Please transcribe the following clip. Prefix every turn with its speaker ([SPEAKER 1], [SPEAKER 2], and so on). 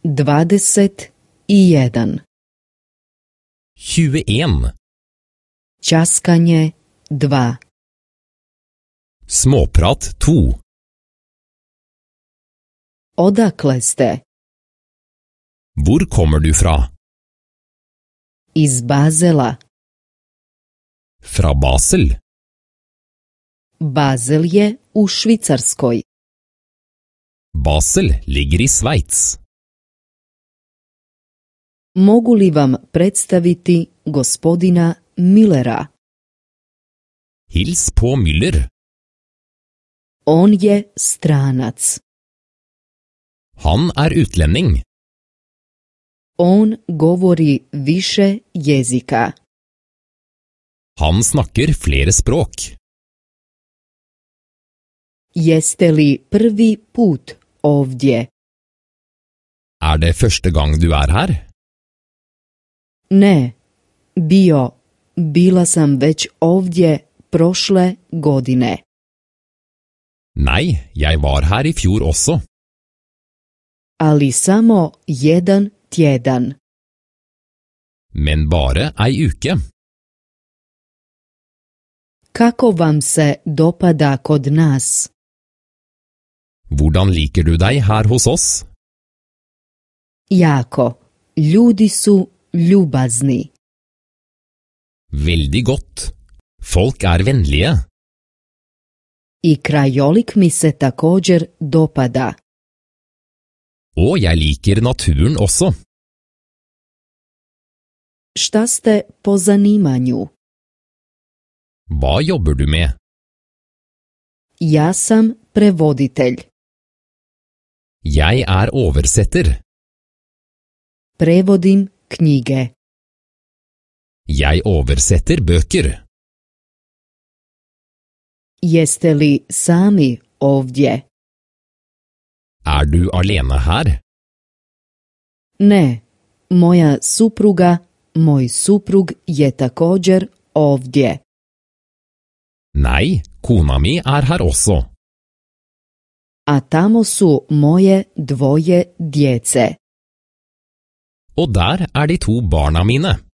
[SPEAKER 1] 21.
[SPEAKER 2] 21.
[SPEAKER 1] Ćaskanje 2.
[SPEAKER 2] Småprat 2.
[SPEAKER 1] Odakle ste?
[SPEAKER 2] Hvor kommer du fra?
[SPEAKER 1] Iz Bazela.
[SPEAKER 2] Fra Basel.
[SPEAKER 1] Bazel je u Švicarskoj.
[SPEAKER 2] Basel ligger i Schweiz.
[SPEAKER 1] Mogu li vam predstaviti gospodina Millera?
[SPEAKER 2] Hils på Müller.
[SPEAKER 1] On je stranac.
[SPEAKER 2] Han utlending.
[SPEAKER 1] On govori više jezika.
[SPEAKER 2] Han snakker flere språk.
[SPEAKER 1] Jeste li prvi put ovdje?
[SPEAKER 2] Det første gang du her?
[SPEAKER 1] Ne, bila sam već ovdje prošle godine.
[SPEAKER 2] Nei, jeg var her i fjor også.
[SPEAKER 1] Ali samo jedan tjedan.
[SPEAKER 2] Men bare ei uke.
[SPEAKER 1] Kako vam se dopada kod nas?
[SPEAKER 2] Hvordan liker du deg her hos oss?
[SPEAKER 1] Jako. Ljudi su ljubazni.
[SPEAKER 2] Veldig godt. Folk vennlige.
[SPEAKER 1] I krajolik mi se također dopada.
[SPEAKER 2] Og jeg liker naturen også.
[SPEAKER 1] Šta ste po zanimanju?
[SPEAKER 2] Hva jobber du med?
[SPEAKER 1] Ja sam prevoditelj.
[SPEAKER 2] Jeg oversetter.
[SPEAKER 1] Prevodim knjige.
[SPEAKER 2] Jeg oversetter bøker.
[SPEAKER 1] Jeste li sami ovdje?
[SPEAKER 2] Du alene her?
[SPEAKER 1] Ne, moja supruga, moj suprug je također ovdje.
[SPEAKER 2] Nei, kona mi her også.
[SPEAKER 1] A tamo su moje dvoje djece.
[SPEAKER 2] Og der de 2 barna mine.